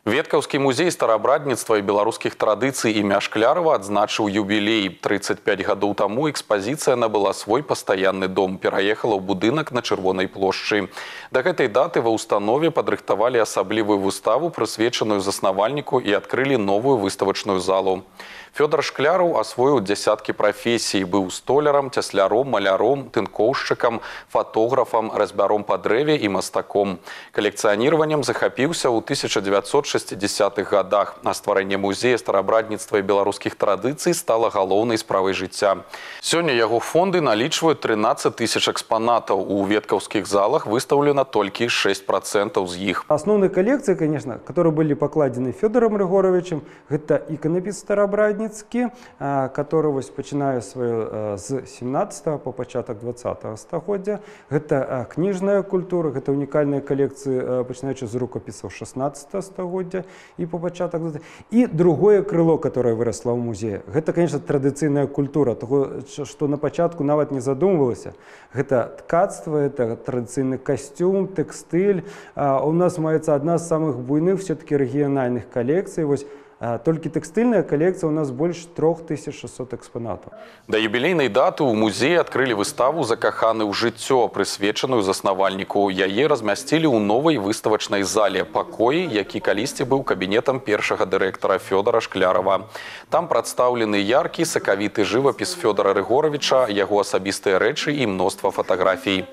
Веткаўскі музей старабрадніцтва і беларускіх традыцый імя Шклярова адзначыў юбілей. 35 гадоў таму экспазіцыя набыла свой пастаянны дом, пераехала ў будынак на Чырвонай плошчы. Да гэтай даты ва ўстанове падрыхтавалі асаблівую выставу, прысвечаную заснавальніку, і адкрылі новую выставачную залу. Фёдор Шкляраў асвоіў дзясяткі прафесій, быў столярам, цясляром, маляром, тынкоўшчыкам, фатографам, разьбяром па дрэве і мастаком. Калекцыяніраваннем захапіўся ў 1960-х годах, а стварэнне музея старабрадніцтва і беларускіх традыцый стала галоўнай справай жыцця. Сёння яго фонды налічваюць 13 тысяч экспанатаў. У веткаўскіх залах выстаўлена толькі 6% з іх. Основные коллекции, конечно, которые были покладены Федором Григоровичем, это иконопис старобрадніцкі, который пачынае свое з 17 по пачатак 20 стагоддзя. Это кніжная культура, это уникальные коллекции, пачынаючы з рукописаў 16 стагоддзя и по пачатак. И другое крыло, которое выросло в музее, это, конечно, традыцыйная культура, того, что на пачатку нават не задумывалася. Это ткацтво, это традыцыйны костюм, тэкстыль. У нас маецца одна з самых буйных все-таки региональных коллекций. Толькі тэкстыльная калекцыя у нас больш 3600 экспанатаў. Да юбілейнай даты ў музеі адкрылі выставу «Закаханы ў жыццё», прысвечаную заснавальніку. Яе размясцілі ў новай выставачнай зале, пакоі, які калісьці быў кабінетам першага дырэктара Фёдора Шклярова. Там прадстаўлены яркі, сакавіты жывапіс Фёдора Рыгоровича, яго асабістыя рэчы і мноства фатаграфій.